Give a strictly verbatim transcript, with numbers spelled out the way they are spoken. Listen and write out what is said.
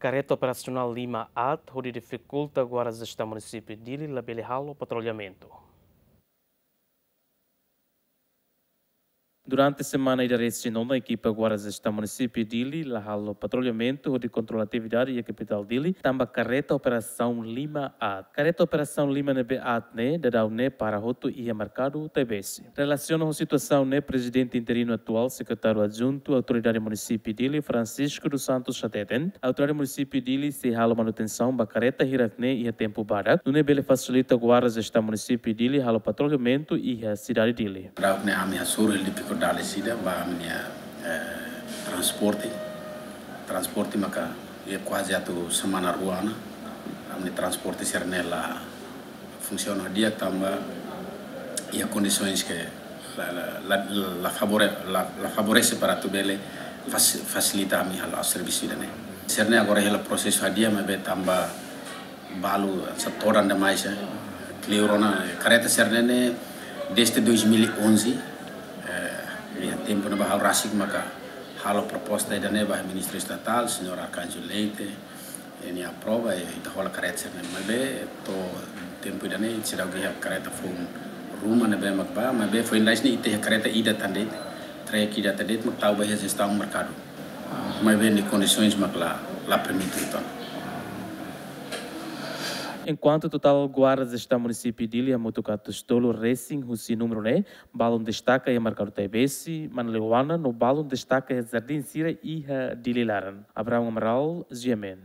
kareta operasionál lima aat hodi difikulta Guarda Jestaun Munisípiu Dili labele halo patrullamentu. Durante semana ida resin ona, ekipa Guarda Jestaun Munisípiu Dili la halo patrullamentu hodi kontrola atividade iha kapitál Dili, tanba kareta operasaun lima aat. Kareta operasaun lima ne'ebé aat ne'e daudaun ne'e para hotu iha merkadu Taibesi. Relasiona ho situasaun ne'e, Prezidente interinu atuál, Sekretáriu Adjuntu Autoridade Munisípiu Dili, Francisco dos Santos hateten, Autoridade Munisípiu Dili sei halo manutensaun ba kareta hirak ne'e iha tempu badak, nune'e bele fasilita Guarda Jestaun Munisípiu Dili halo patrullamentu iha sidade Dili. Daudaun ne'e ami hasoru hela difikuldade ida ba ami-nia, eh, transporte. Transporte maka iha kuaze atu semana rua ona, ami-nia transporte sira-ne'e la funsiona di'ak tanba iha kondisoens ke la, la, la, la favore-, la, la favorese para atu bele fas-, fasilita ami halo servisu ida-ne'e. Sira-ne'e agora hela prosesu hadi'a, maibé tanba balu hanesan todan demais, eh. Kleur ona, eh, kareta sira-ne'e ne'e desde dois mil e onze, eh, iha tempu ne'ebá ha'u rasik maka halo proposta ida-ne'e ba Ministru Estatál, Señór Arcanjo Leite, i nia aprova, i ita hola kareta sira-ne'e. Maibé to'o tempu ida-ne'e seidauk iha kareta foun ruma ne'ebé mak bá, maibé foin ida-ne'e ita iha kareta ida tan de'it, trek ida tan de'it mak tau ba iha jestaun merkadu. Maibé nia kondisoens mak la, la permite uitoan. Enkuantu totál Guarda Jestaun Munisípiu Dili hamutuk atus tolu resin husi númeru ne'e, balun destaka iha merkadu Taibesi, Manleuana, no balun destaka iha jardín sira iha Dili laran. Abraham Amaral, G M N.